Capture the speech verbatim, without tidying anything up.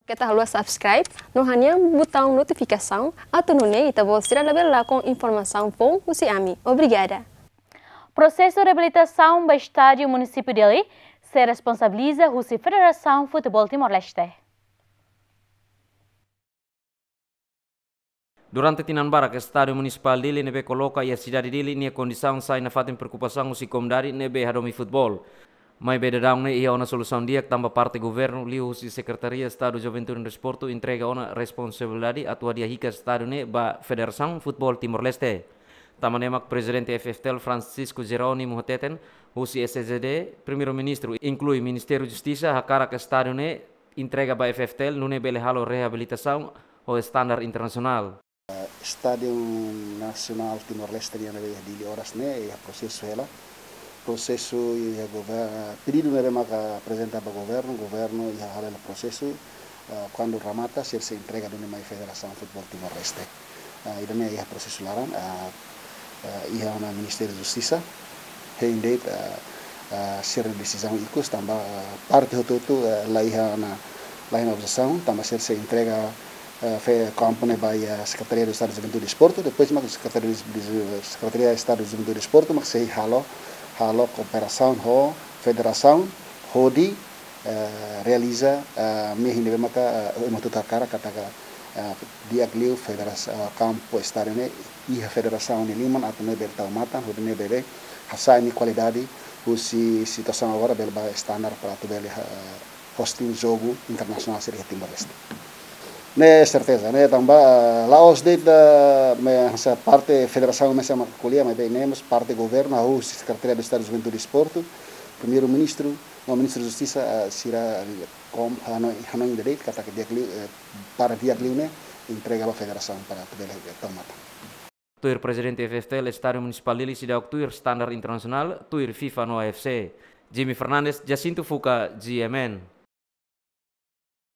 Keta haluha subscribe no hanehan butaun notifikasaun atu nune'e ita-boot sira labele lakon informasaun foun husi ami. Obrigada. Prosesu reabilitasaun ba Estádiu Munisípiu Dili sei responsabiliza husi Federasaun Futeból Timor-Leste. Durante tinan barak, Estádiu Munisipál Dili ne'ebé koloka iha sidade Dili nia kondisaun sai nafatin preokupasaun husi komunidade ne'ebé hadomi futeból. Maibé daudaun ne'e iha ona solusaun di'ak tanba parte governu liuhusi Sekretaria Estadu Juventude no Desportu entrega ona responsabilidade atu hadi'a hikas estádiu ne'e ba Federasaun Futeból Timor-Leste. Tanba ne'e mak Prezidente F F T L Francisco Jerónimo hateten, husi S J D, Primeiru-Ministru inklui Ministériu Justisa hakarak estádiu ne'e entrega ba F F T L nune'e bele halo reabilitasaun ho estandar internasionál. Estádiu Nasionál Timor-Leste nian ne'ebé iha Dili oras ne'e iha prosesu hela. Prosesu iha gover-, pedidu ne'ebé maka aprezenta ba governu, governu iha halo hela prosesu, ah, kuandu remata, sira sei entrega duni mai Federasaun Futeból Timor-Leste. Ah, ida-ne'e iha prosesu laran, ah, ah, iha ona Ministériu Justisa, hein de'it, ah, ah, sira desizaun ikus, tanba, ah, parte hotu-hotu, ah, la iha ona, la iha ona objesaun, tanba sira sei entrega, ah, fe kampu ne'e ba iha Sekretaria Estadu Juventude Desportu, depois mak Sekretaria, Sekretaria Estadu Juventude Desportu mak sei halo, halo kooperasaun ho federasaun, hodi, eh, realiza, eh, mehi ne'ebé maka, eh, ema hotu hakarak katak, eh, di'ak liu federas-, eh, kampu estádiu ne'e iha federasaun nia liman atu nune'e bele tau matan, hodi nune'e bele hasa'e nia kualidade husi situasaun agora bele ba estandar para atu bele, eh, hosting jogu internasionál sira iha Timor-Leste. Ne'e serteza, ne'e tanba, eh, la'ós de'it, eh, hanesan parte federasaun mesak mak ko'alia, maibé ne'e mós parte governu, hahú husi Sekretaria Estadu Juventude Desportu, Primeiru-Ministru, no Ministru Justisa, eh, sira, eh, kom-, hanoin, hanoin ida de'it katak di'ak liu, eh, para di'ak liu ne'e entrega ba federasaun para atu bele, eh, tau matan. Tuir Prezidente F F T L, Estádiu Munisipál Dili seidauk tuir estandar internasionál, tuir FIFA no A F C. Jimmy Fernandes, Jacinto Fuca, G M N.